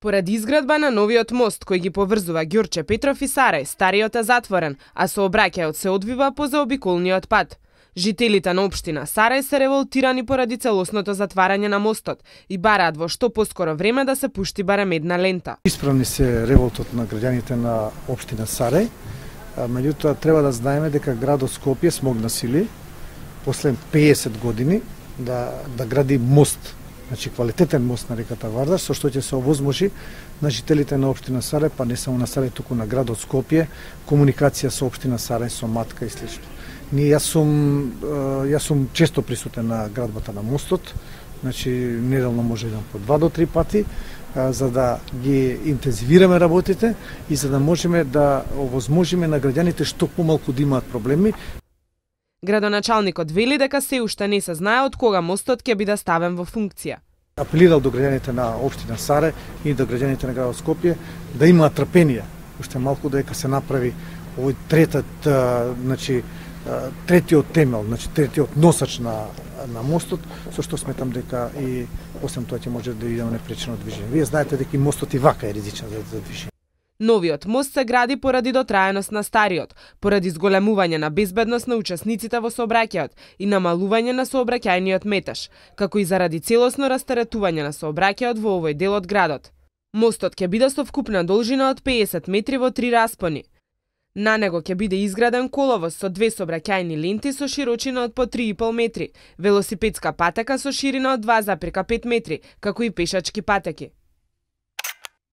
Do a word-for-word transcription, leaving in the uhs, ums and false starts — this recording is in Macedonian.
Поради изградба на новиот мост кој ги поврзува Ѓурче Петров и Сарај, стариот е затворен, а сообраќајот се одвива по заобиколниот пат. Жителите на општина Сарај се револтирани поради целосното затварање на мостот и бараат во што поскоро време да се пушти барем една лента. Исправни се револтот на граѓаните на општина Сарај, меѓутоа треба да знаеме дека градот Скопје смогна сили после пеесет години да да гради мост, значи квалитетен мост на реката Вардар, со што ќе се овозможи на жителите на општина Сарај, па не само на Сарај, туку на градот Скопје, комуникација со општина Сарај, со Матка и слично. Ние јас сум јас сум често присутен на градбата на мостот, значи неделно може еден по два до три пати, за да ги интензивираме работите и за да можеме да овозможиме на граѓаните што помалку да имаат проблеми. Градоначалникот вели дека се уште не се знае од кога мостот ќе биде ставен во функција. Апелирал до граѓаните на општина Сарај и до граѓаните на градот Скопје да имаат трпение, уште малку дека се направи овој третат, значи третиот темел, значи третиот носач на на мостот, со што сметам дека и освен тоа ќе може да идеме непречено движење. Вие знаете дека и мостот и вака е ризичен за, за движење. Новиот мост се гради поради дотраеност на стариот, поради зголемување на безбедност на учесниците во сообраќајот и намалување на сообраќајниот метеж, како и заради целосно растаретување на сообраќајот во овој дел од градот. Мостот ќе биде со вкупна должина од пеесет метри во три распони. На него ќе биде изграден коловоз со две сообраќајни ленти со широчина од по три и пол метри, велосипедска патека со ширина од два запирка пет метри, како и пешачки патеки.